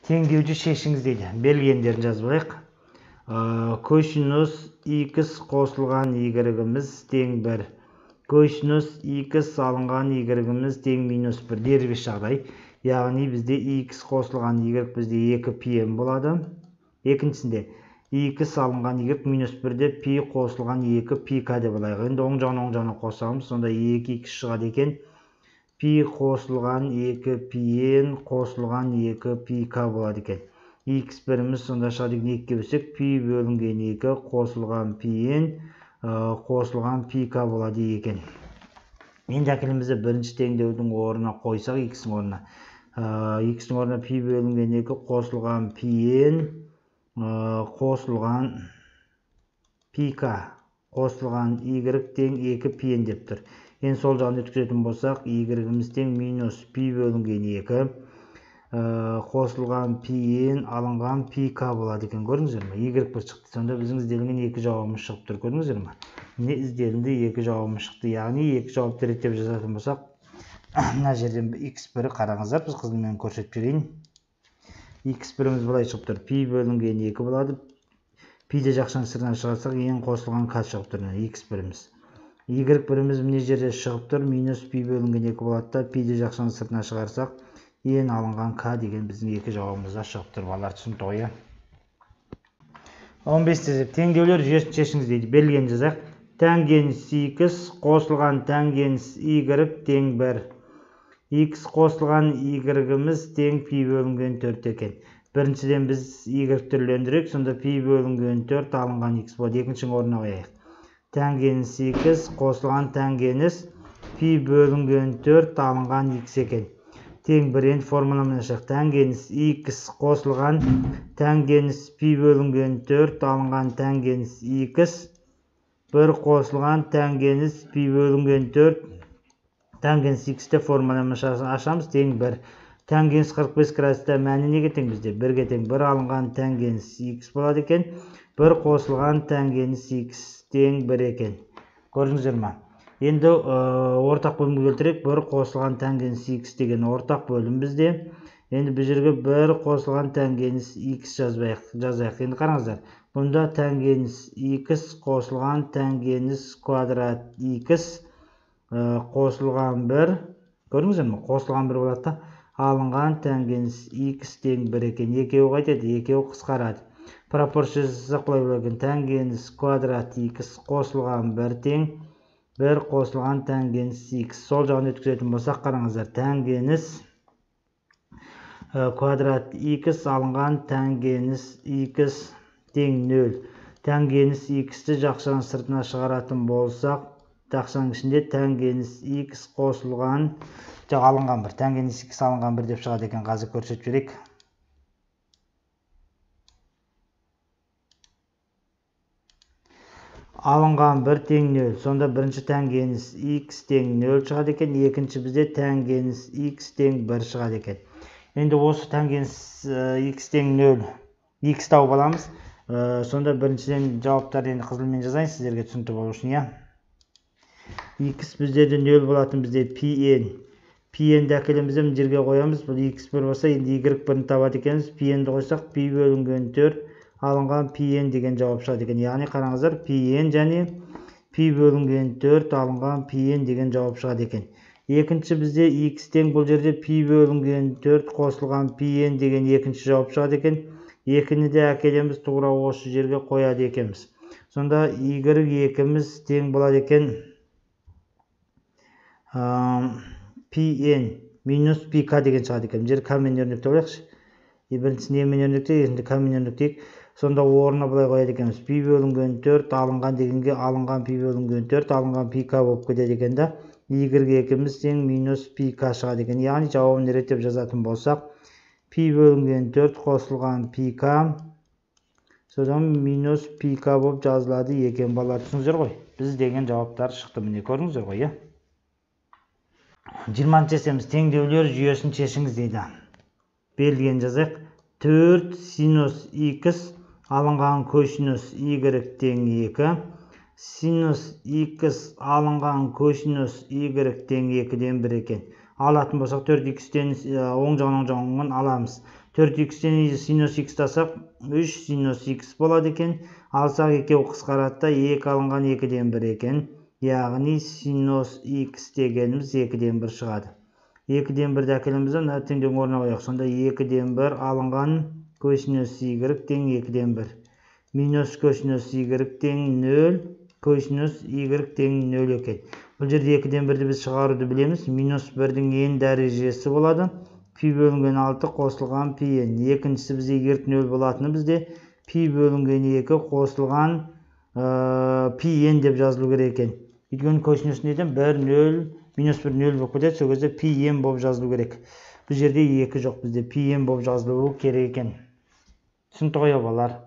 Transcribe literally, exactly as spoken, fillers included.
Теңдеуді шешіңіз дейді. Белгендерін жазып алайық. Косинус икс қосылған y-іміз тең бір. Косинус икс алынған y-іміз тең минус бір. Дербес жағдай. Яғни бізде икс қосылған y бізде екі пи м болады. Екіншісінде икс алынған y минус бірде пи қосылған екі пи к деп алайық. Енді оң жағын оң жағына қосамыз. Сонда екі икс шығады екен. Пи қосылған екі пи н қосылған екі пи к болады екен. Х біріміз сонда шығады екіге бөлсек, пи бөлінген екі қосылған пи н қосылған пи к болады екен. Енді әкелімізді бірінші теңдеудің орнына қойсақ, х-ның орнына. х-ның орнына пи бөлінген екі қосылған пи н қосылған пи к қосылған y тең екі пи н деп тұр. Енді сол жағын өткізетін болсақ, y-іміз тең минус пи бөлінген екі қосылған пи н алынған пи к болады екен. Көрдіңіздер ме? Y бір шықты. Сонда біздің ізделінген екі жауабымыз шығып тұр. Көрдіңіздер ме? Не ізделінді екі жауабымыз шықты. Яғни екі жауапты реттеп жазатын болсақ, мына жерден х бірі қараңыздар, біз қызылмен көрсетіп жіберейін. х біріміз былай шығып тұр. Пи бөлінген екі болады. Пиді жақшаның сыртынан шығарсақ, n қосылған к шығып тұр. х біріміз. Y біріміз міне жерде шығып тұр, минус пи бөлінген екі болады да, пиді жақшаның сыртына шығарсақ, n алынған к деген біздің екі жауабымызда шығып тұр. Балалар түсінікті ғой. он бес теңдеулер жүйесін шешіңіз дейді. Берілген жазайық. Тангенс х қосылған тангенс y тең бір. Х қосылған y-іміз тең пи бөлінген төрт екен. Біріншіден біз y түрлендірек, сонда пи бөлінген төрт алынған х болады. Екіншінің орнына қояйық. Тангенс х қосылған тангенс пи бөлінген төрт алынған х екен. Тең бір. Енді формуламен ашық. Тангенс х қосылған тангенс пи бөлінген төрт алынған тангенс х бір қосылған тангенс пи бөлінген төрт тангенс х-те формуламен ашамыз. Тең бір. Тангенс қырық бес градуста мәні неге тең бізде? бірге тең. бір алынған тангенс х болады екен. бір қосылған тангенс х тең бір екен. Көрдіңіздер ме? Енді ортақ бөлімге келтірейік. бір қосылған тангенс х деген ортақ бөлім бізде. Енді бұл жерге бір қосылған тангенс х жазайық. Енді қараңыздар. Бұнда тангенс х қосылған тангенс квадрат х қосылған бір. Көрдіңіздер ме? Қосылған бір болады да. Алынған тангенс х тең бір екен. Екеуі қайтеді? Екеуі қысқарады. Пропорция жасасақ былай болады екен. Тангенс квадрат х қосылған бір тең бір қосылған тангенс х. Сол жағын өткізетін болсақ, қараңыздар. Тангенс квадрат х алынған тангенс х тең нөл. Тангенс х-ті жақшаның сыртына шығаратын болсақ, жақшаның ішінде тангенс х қосылған жоқ алынған бір. Тангенс х алынған бір деп шығады екен. Қазір көрсетіп жіберейік. Алынған бір тең нөл. Сонда бірінші тангенс х тең нөл шығады екен. Екінші бізде тангенс х тең бір шығады екен. Енді осы тангенс х тең нөл х тауып аламыз. Сонда біріншіден жауаптарды енді қызылмен жазайын сіздерге түсінікті болу үшін. Х біздерде нөл болатын бізде пи н. пи н-ді әкелемізде мына жерге қоямыз. Бұл х бір болса, енді y бірін табады екенбіз. пи н-ді қойсақ, пи бөлінген төрт алынған пи н деген жауап шығады екен. Яғни қараңыздар, пи н және пи бөлінген төрт алынған пи н деген жауап шығады екен. Екінші бізде х тең бұл жерде пи бөлінген төрт қосылған пи н деген екінші жауап шығады екен. Екіні де әкелеміз, тура осы жерге қояды екенбіз. Сонда y екіміз тең болады екен пи н минус пи к деген шығады екен. Жер к-мен өрнекте қояқшы. Біріншісін е-мен өрнекте, екіншісінде к-мен өрнектейік. Сонда орнына былай қояды екенбіз. Пи бөлінген төрт алынған дегенге алынған пи бөлінген төрт алынған пи к болып кетеді екен да. y екіміз тең минус пи к шығады екен. Яғни жауабын реттеп жазатын болсақ, пи бөлінген төрт қосылған пи к содан минус пи к болып жазылады екен. Балалар түсіңіздер ғой. Біз деген жауаптар шықты. Міне көрдіңіздер ғой. жиырманыншы есеміз теңдеулер жүйесін шешіңіз дейді. Берілген жазайық. төрт синус х алынған косинус y тең екі. Синус х алынған косинус y тең екіден бір екен. Алатын болсақ төрт х-тен оң жағын оң жағын аламыз. төрт икстен синус икс тасақ үш синус икс болады екен. Алсақ екеу қысқарады да екі алынған екіден бір екен. Яғни синус икс дегеніміз екіден бір шығады. екіден бірді әкелеміз, мына теңдеудің орнына қояйық. Сонда екіден бір алынған косинус y тең екіден бір. Минус косинус y тең нөл, косинус y тең нөл екен. Бұл жерде екіден бірді біз шығаруды білеміз. Минус бірдің n дәрежесі болады. Пи бөлінген алты қосылған пи n. Екіншісі бізде егер нөл болатыны бізде пи бөлінген екі қосылған пи n деп жазылу керек екен. Өйткені косинус неден бір нөл, минус бір нөл болып кетеді, сол кезде пи n болып жазылу керек. Бұл жерде екі жоқ, бізде пи n болып жазылуы керек екен. Түсінікті ғой балалар?